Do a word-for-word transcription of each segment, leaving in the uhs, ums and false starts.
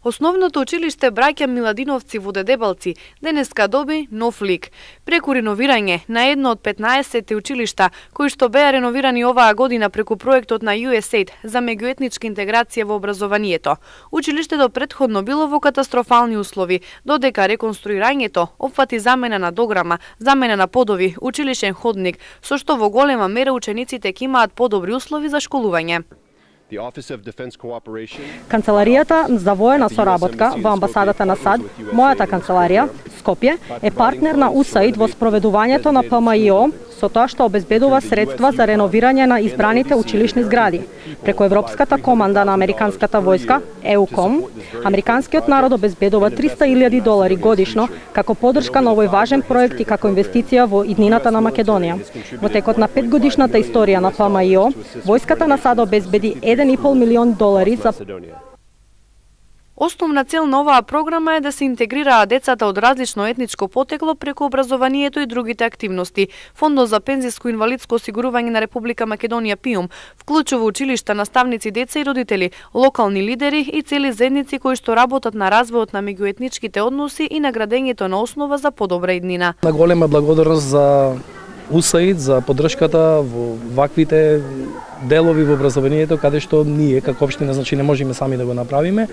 Основното училиште Браќа Миладиновци во Дедебалци денеска доби нов лик. Преку реновирање на едно од петнаесет училишта кои што беа реновирани оваа година преку проектот на ю ес ейд за меѓуетничка интеграција во образованието. Училиштето претходно било во катастрофални услови, додека реконструирањето опфати замена на дограма, замена на подови, училишен ходник, со што во голема мера учениците ќе имаат подобри услови за школување. Канцеларијата за воена соработка во амбасадата на САД, мојата канцеларија, Скопје, е партнер на ю ес ейд во спроведувањето на пе ем и о со тоа што обезбедува средства за реновирање на избраните училишни згради. Преку Европската команда на Американската војска, еуком, американскиот народ обезбедува триста илјади долари годишно како поддршка на овој важен проект и како инвестиција во иднината на Македонија. Во текот на петгодишната историја на пе ем и о, војската на САД обезбеди еден и пол милион долари за Основна цел на оваа програма е да се интегрираат децата од различно етничко потекло преку образованието и другите активности. Фондот за пензиско и инвалидско осигурување на Република Македонија ПИУМ вклучува училишта, наставници, деца и родители, локални лидери и цели заедници кои што работат на развојот на меѓуетничките односи и на градењето на основа за подобра иднина. На голема благодарност за ю ес ейд за поддршката во ваквите делови во образованието каде што ние како општина значи не можеме сами да го направиме.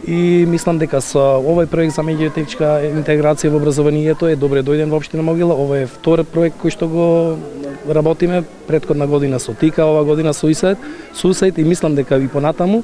И мислам дека со овој проект за меѓуетничка интеграција во образованието е добре дојден во општина Могила. Ова е втор проект кој што го работиме, претходна година со ТИКА, ова година со ю ес ейд и мислам дека и понатаму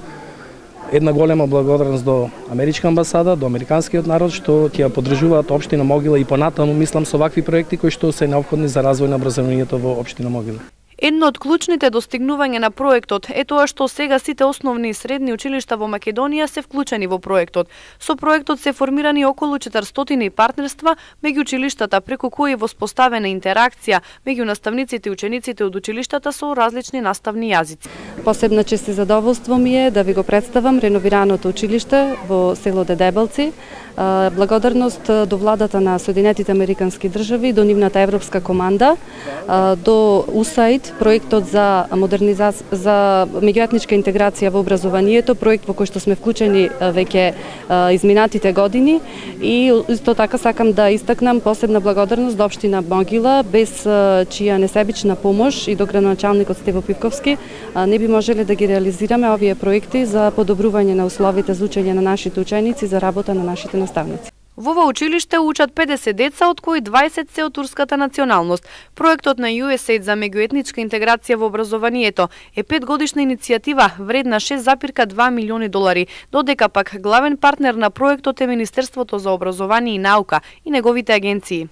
една голема благодарност до Америчка амбасада, до американскиот народ што ќе ја поддржуваат општина Могила и понатаму мислам со вакви проекти кои што се неопходни за развој на образованието во општина Могила. Едно од клучните достигнувања на проектот е тоа што сега сите основни и средни училишта во Македонија се вклучени во проектот. Со проектот се формирани околу четиристотини партнерства меѓу училиштата преку кои е воспоставена интеракција меѓу наставниците и учениците од училиштата со различни наставни јазици. Посебна чест и задоволство ми е да ви го представам реновираното училиште во село Дедебалци. Благодарност до владата на Соединетите Американски држави, до нивната европска команда, до ю ес ейд, проектот за модернизација за меѓуетничка интеграција во образованието, проект во кој што сме вклучени веќе изминатите години и исто така сакам да истакнам посебна благодарност до општина Могила, без чија несебична помош и до градоначалникот Стево Пивковски не би можеле да ги реализираме овие проекти за подобрување на условите за учење на нашите ученици, за работа на нашите наставници. Во ова училиште учат педесет деца, од кои дваесет се од турската националност. Проектот на ю ес ейд за меѓуетничка интеграција во образованието е петгодишна иницијатива вредна шест запирка два милиони долари, додека пак главен партнер на проектот е Министерството за образование и наука и неговите агенции.